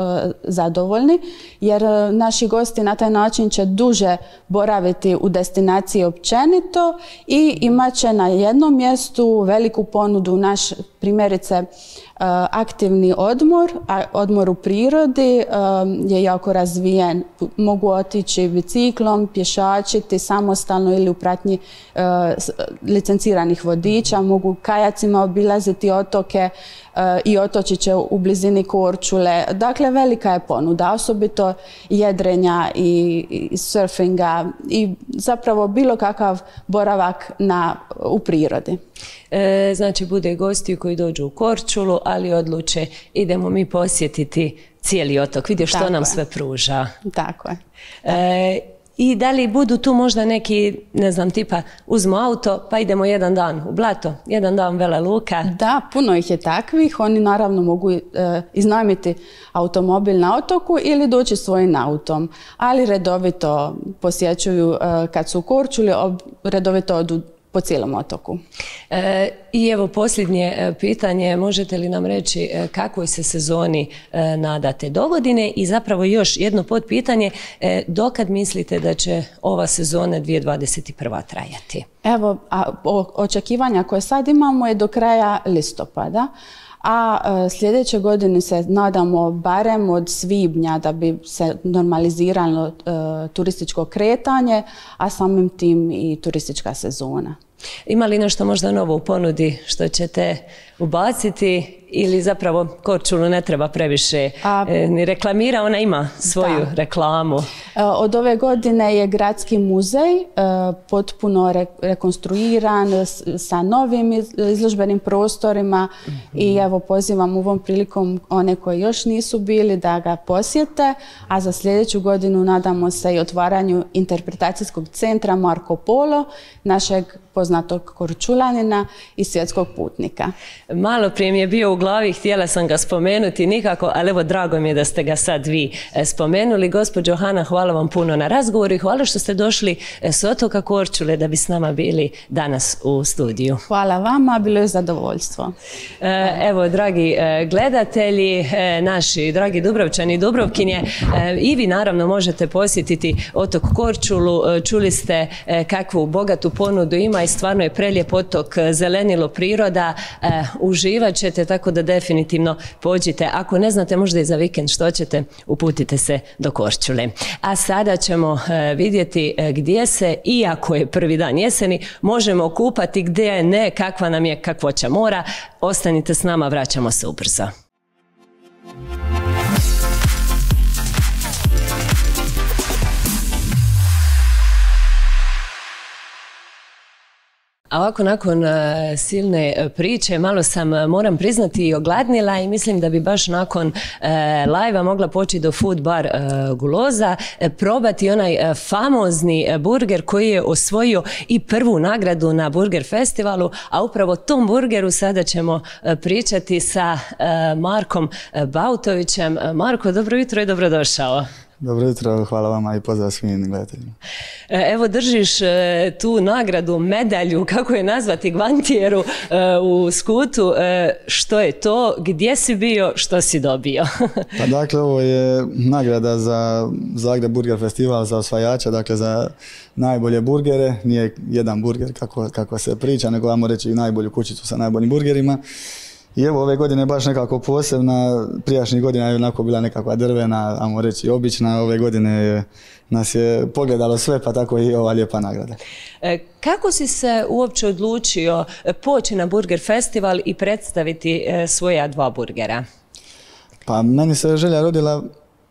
zadovoljni, jer naši gosti na taj način će duže boraviti u destinaciji općenito i imat će na jednom mjestu veliku ponudu. Naš primjerice aktivni odmor u prirodi je jako razvijen. Mogu otići biciklom, pješačiti samostalno ili u pratnji licenciranih vodiča, mogu kajacima obilaziti otoke i otočiće u blizini Korčule. Dakle, velika je ponuda, osobito jedrenja i surfinga i zapravo bilo kakav boravak u prirodi. Znači, bude gosti koji dođu u Korčulu, ali odluče idemo mi posjetiti cijeli otok, vidjeti što nam sve pruža. Tako je. I da li budu tu možda neki, ne znam, tipa uzmu auto pa idemo jedan dan u Blato, jedan dan Vela Luka? Da, puno ih je takvih. Oni naravno mogu iznajmiti automobil na otoku ili doći svojim autom, ali redovito posjećuju kad su u Korčuli, redovito odu po cijelom otoku. I evo posljednje pitanje, možete li nam reći kakvoj se sezoni nadate dogodine i zapravo još jedno potpitanje, dokad mislite da će ova sezona 2021. trajati? Evo, očekivanja koje sad imamo je do kraja listopada, a sljedeće godine se nadamo barem od svibnja da bi se normaliziralo turističko kretanje, a samim tim i turistička sezona. Ima li nešto možda novo u ponudi što ćete ubaciti ili zapravo Korčulu ne treba previše ni reklamira, ona ima svoju reklamu? Od ove godine je Gradski muzej potpuno rekonstruiran sa novim izložbenim prostorima i evo pozivam ovom prilikom one koji još nisu bili da ga posjete, a za sljedeću godinu nadamo se i otvaranju interpretacijskog centra Marko Polo, našeg poznatog poznatog Korčulanina i svjetskog putnika. Malo prije mi je bio u glavi, htjela sam ga spomenuti nikako, ali evo drago mi je da ste ga sad vi spomenuli. Gospođo Hana, hvala vam puno na razgovoru i hvala što ste došli s otoka Korčule da bi s nama bili danas u studiju. Hvala vama, bilo je zadovoljstvo. Evo, dragi gledatelji, naši dragi Dubrovčani i Dubrovkinje, i vi naravno možete posjetiti otok Korčulu. Čuli ste kakvu bogatu ponudu ima i stvarno je prelijep otok, zelenilo, priroda, uživat ćete, tako da definitivno pođite. Ako ne znate možda i za vikend što ćete, uputite se do Korčule. A sada ćemo vidjeti gdje se, iako je prvi dan jeseni, možemo kupati, gdje ne, kakva nam je kakvoća mora. Ostanite s nama, vraćamo se ubrzo. A ovako, nakon silne priče, malo sam, moram priznati, i ogladnila i mislim da bi baš nakon live-a mogla poći do Food Bar Guloza, probati onaj famozni burger koji je osvojio i prvu nagradu na Burger festivalu, a upravo o tom burgeru sada ćemo pričati sa Markom Bautovićem. Marko, dobro jutro i dobrodošao. Dobro jutro, hvala vama i pozdrav svim gledateljima. Evo, držiš tu nagradu, medalju, kako je nazvati, gvantijeru u skutu. Što je to? Gdje si bio? Što si dobio? Pa dakle, ovo je nagrada za Zagreb Burger festival za osvajača, dakle za najbolje burgere. Nije jedan burger kako se priča, nego vamo reći i najbolju kućicu sa najboljim burgerima. I evo, ove godine je baš nekako posebna, prijašnjih godina je onako bila nekakva drvena, ajmo reći obična, ove godine nas je pogledalo sve, pa tako i ova lijepa nagrada. Kako si se uopće odlučio poći na Burger festival i predstaviti svoja dva burgera? Pa meni se želja rodila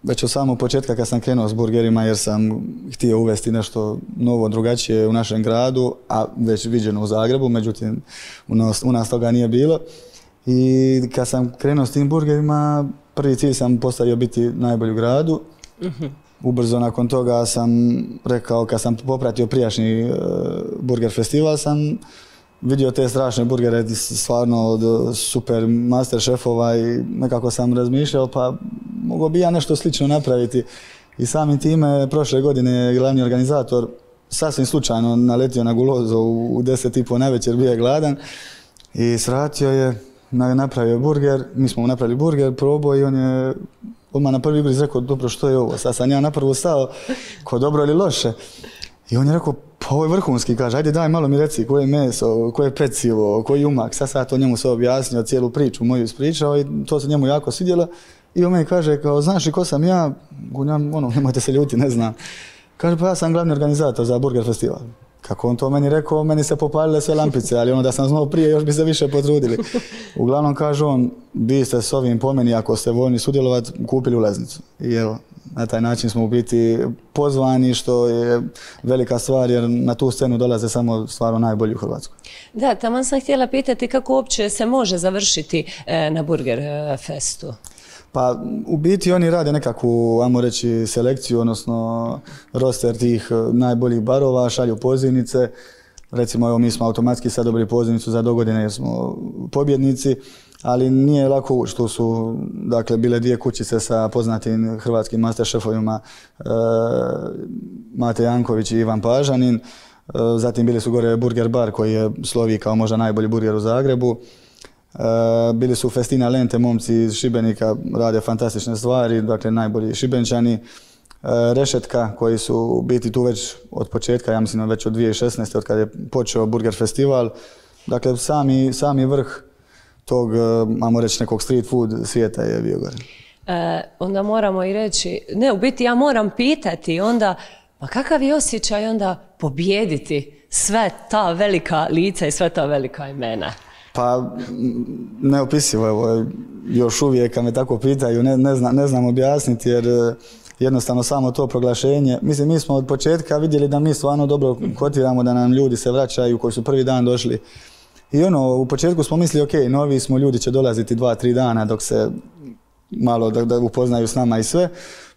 već od samog početka kad sam krenuo s burgerima, jer sam htio uvesti nešto novo, drugačije u našem gradu, a već viđeno u Zagrebu, međutim u nas toga nije bilo. I kad sam krenuo s tim burgerima, prvi cilj sam postavio biti najbolji u gradu. Ubrzo nakon toga sam rekao, kad sam popratio prijašnji Burger festival, sam vidio te strašne burgere, stvarno od super master šefova, i nekako sam razmišljao, pa mogao bi ja nešto slično napraviti. I samim time prošle godine glavni organizator sasvim slučajno naletio na Gulozo u 10:30 navečer, bio je gladan i svratio je, napravio burger, mi smo mu napravili burger, probao i on je odmah na prvi ugriz rekao, dobro, što je ovo? Sad sam ja napravo stao, ko dobro ili loše. I on je rekao, pa ovo je vrhunski, kaže, ajde daj malo mi reci koje je meso, koje je pecivo, koji je umak. Sad to njemu sve objasnio, cijelu priču moju ispričao i to se njemu jako svidjelo. I on meni kaže, kao, znaš li ko sam ja? Nemojte se ljuti, ne znam. Kaže, pa ja sam glavni organizator za Burger festival. Kako on to meni rekao, meni se popalile sve lampice, ali da sam znao prije, još bi se više potrudili. Uglavnom, kaže on, vi ste s ovim po meni, ako ste voljni sudjelovati, kupili ulaznicu. I evo, na taj način smo u biti pozvani, što je velika stvar, jer na tu scenu dolaze samo stvarno najbolji u Hrvatskoj. Da, tamo sam htjela pitati kako uopće se može završiti na Burger festu. Pa u biti oni rade nekakvu, ajmo reći, selekciju, odnosno roster tih najboljih barova, šalju pozivnice. Recimo, evo, mi smo automatski sad dobili pozivnicu za dogodine jer smo pobjednici, ali nije lako ući. Tu su, dakle, bile dvije kućice sa poznatim hrvatskim master šefovima, Mate Janković i Ivan Pažanin. Zatim bili su gore Burger Bar koji je slovi kao možda najbolji burger u Zagrebu. Bili su Festina Lente, momci iz Šibenika, rade fantastične stvari, dakle najbolji Šibenčani. Rešetka koji su biti tu već od početka, ja mislim već od 2016. od kada je počeo Burger festival. Dakle, sami vrh tog, ajmo reći, nekog street food svijeta je bio gore. Onda moramo i reći, ne, u biti ja moram pitati onda, pa kakav je osjećaj onda pobijediti sve ta velika lica i sve ta velika imena? Pa, neopisivo, evo, još uvijek kad me tako pitaju, ne znam objasniti, jer jednostavno samo to proglašenje. Mislim, mi smo od početka vidjeli da mi stvarno dobro kotiramo, da nam ljudi se vraćaju koji su prvi dan došli. I u početku smo mislili, ok, novi smo, ljudi će dolaziti 2-3 dana dok se malo da upoznaju s nama i sve.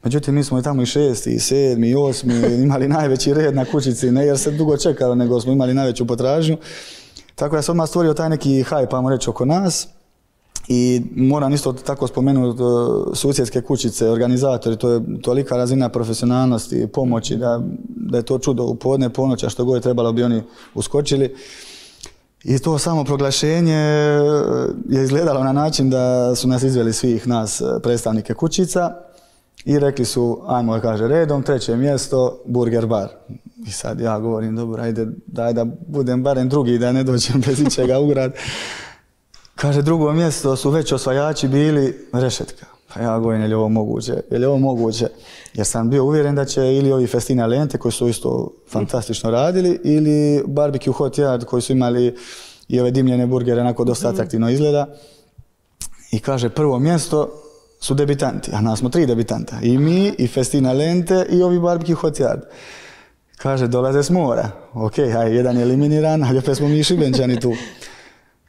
Međutim, mi smo i tamo i 6., 7., 8. imali najveći red na kućici, ne jer se dugo čekalo, nego smo imali najveću potražnju. Tako da sam odmah stvorio taj neki hype, ajmo reći, oko nas. I moram isto tako spomenuti susjedske kućice, organizatori, to je tolika razina profesionalnosti, pomoći, da je to čudo u podne, ponoća, što god je trebalo bi oni uskočili. I to samo proglašenje je izgledalo na način da su nas izveli svih nas predstavnike kućica i rekli su, ajmo kaže redom, 3. mjesto, Burger bar. I sad ja govorim, dobro, ajde, daj da budem barem drugi, da ne dođem bez ičega u grad. Kaže, 2. mjesto su već osvajači bili Rešetka. Pa ja govorim, je li ovo moguće? Je li ovo moguće? Jer sam bio uvjeren da će ili ovi Festina Lente, koji su isto fantastično radili, ili Barbecue Hot Yard, koji su imali i ove dimljene burgere, onako dosta atraktivno izgleda. I kaže, 1. mjesto su debitanti, a nas smo 3 debitanta. I mi, i Festina Lente, i ovi Barbecue Hot Yard. Kaže, dolaze s mora. Ok, jedan je eliminiran, ali opet smo mi Šibenčani tu.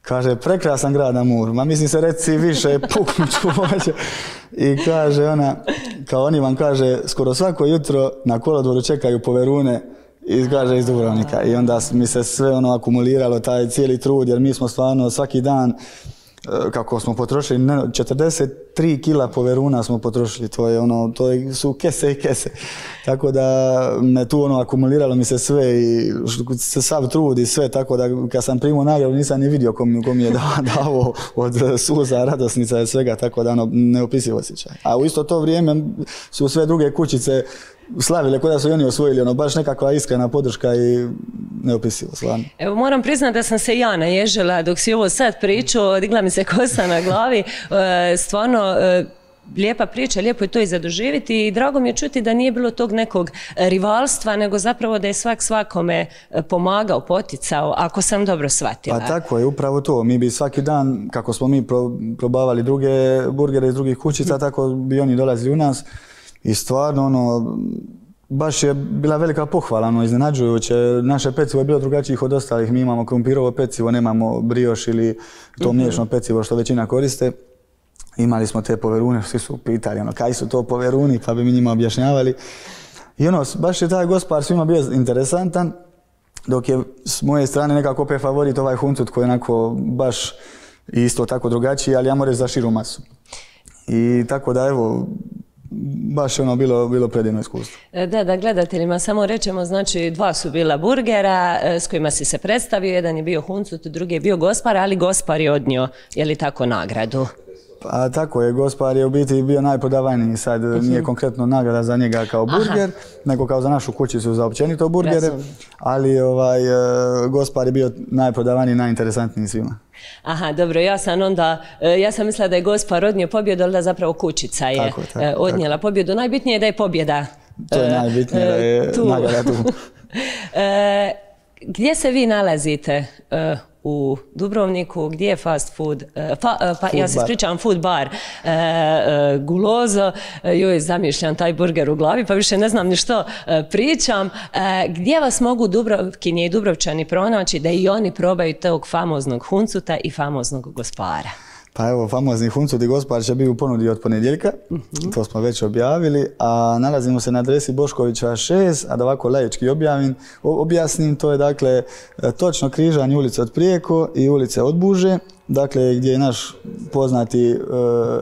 Kaže, prekrasan grad na moru, ma mislim se reci više, puknuću hoće. I kaže ona, kao oni vam kaže, skoro svako jutro na kolodvoru čekaju poverune iz Dubrovnika. I onda mi se sve ono akumuliralo, taj cijeli trud, jer mi smo stvarno svaki dan, kako smo potrošili, 43 kila poveruna smo potrošili, to su kese i kese. Tako da me tu akumuliralo mi se sve i sav trud i sve, tako da kad sam primio nagradu nisam ni vidio ko mi je dao od suza, radosnica i svega, tako da neopisiv osjećaj. A u isto to vrijeme su sve druge kućice slavile kod da su i oni osvojili, baš nekakva iskrena podrška i neopisivo, stvarno. Evo, moram priznati da sam se ja naježila dok si ovo sad pričao, digla mi se kosa na glavi, stvarno lijepa priča, lijepo je to i zadoživiti i drago mi je čuti da nije bilo tog nekog rivalstva, nego zapravo da je svak svakome pomagao, poticao, ako sam dobro shvatila. Pa tako je, upravo to. Mi bi svaki dan, kako smo mi probavali druge burgere iz drugih kućica, tako bi oni dolazili u nas. I stvarno, baš je bila velika pohvala, iznenađujuće. Naše pecivo je bilo drugačije od ostalih. Mi imamo krumpirovo pecivo, nemamo brioš ili to mliječno pecivo što većina koriste. Imali smo te poverune, svi su pitali kaj su to poveruni, pa bi mi njima objašnjavali. I baš je taj gospar svima bio interesantan, dok je s moje strane nekako opet favorit ovaj huncut koji je onako baš isto tako drugačiji, ali ja moram reći za širu masu. I tako da evo, baš je bilo predivno iskustvo. Da, gledateljima samo rečemo, znači 2 su bila burgera s kojima si se predstavio, jedan je bio huncut, drugi je bio gospar, ali gospar je odnio, je li tako, nagradu? Pa tako je, gospar je u biti bio najprodavaniji, sad nije konkretno nagrada za njega kao burger, nego kao za našu kućicu za općenito burgere, ali gospar je bio najprodavaniji, najinteresantniji svima. Aha, dobro, ja sam mislila da je gospar odnio pobjedu, ali da zapravo kućica je odnijela pobjedu. Najbitnije je da je pobjeda. To je najbitnije, da je nagrada tu. Gdje se vi nalazite u Dubrovniku, gdje je fast food, ja se ispričavam, food bar Gulozo, joj zamišljam taj burger u glavi pa više ne znam ni što pričam. Gdje vas mogu Dubrovkinje i Dubrovčani pronaći da i oni probaju tog famoznog huncuta i famoznog gospara? Pa evo, famozni huncut i gospar će biti u ponudi od ponedjeljka, to smo već objavili, a nalazimo se na adresi Boškovića 6, a da ovako laički objasnim, to je dakle točno križanje ulice od Prijeko i ulice od Buže, dakle gdje je naš poznati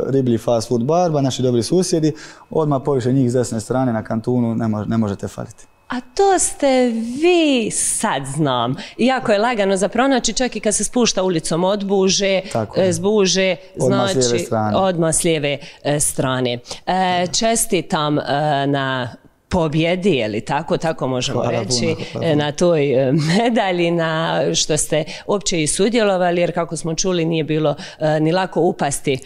riblji fast food bar, naši dobri susjedi, odmah poviše njih s desne strane na kantunu ne možete faliti. A to ste vi, sad znam. Jako je lagano za pronaći, čak i kad se spušta ulicom od Buže, s Buže, znači odmah s lijeve strane. Čestitam na pobjedi, je li tako možemo reći, na toj medalji, na što ste uopće i sudjelovali, jer kako smo čuli nije bilo ni lako upasti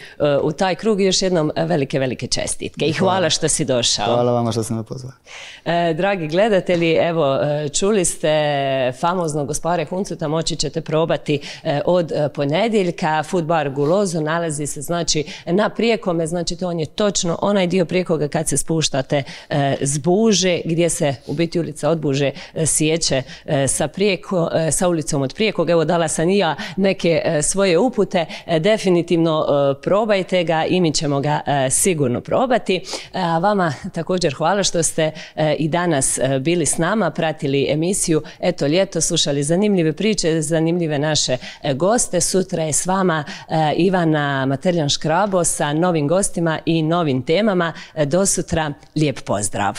u taj krug. Još jednom velike čestitke i hvala što si došao. Hvala vama što ste me pozvali. Dragi gledatelji, evo, čuli ste famoznog gospare huncuta, moći ćete probati od ponedjeljka. Food bar Gulozo nalazi se znači na Prijekome, znači to on je točno onaj dio Prijekoga kad se spuštate s Buže. Buže, gdje se u biti ulica od Buže sjeće sa ulicom od Prijekog. Evo, dala sam i ja neke svoje upute, definitivno probajte ga i mi ćemo ga sigurno probati. A vama također hvala što ste i danas bili s nama, pratili emisiju Eto ljeto, slušali zanimljive priče, zanimljive naše goste. Sutra je s vama Ivana Materljan-Škrabo sa novim gostima i novim temama. Do sutra, lijep pozdrav!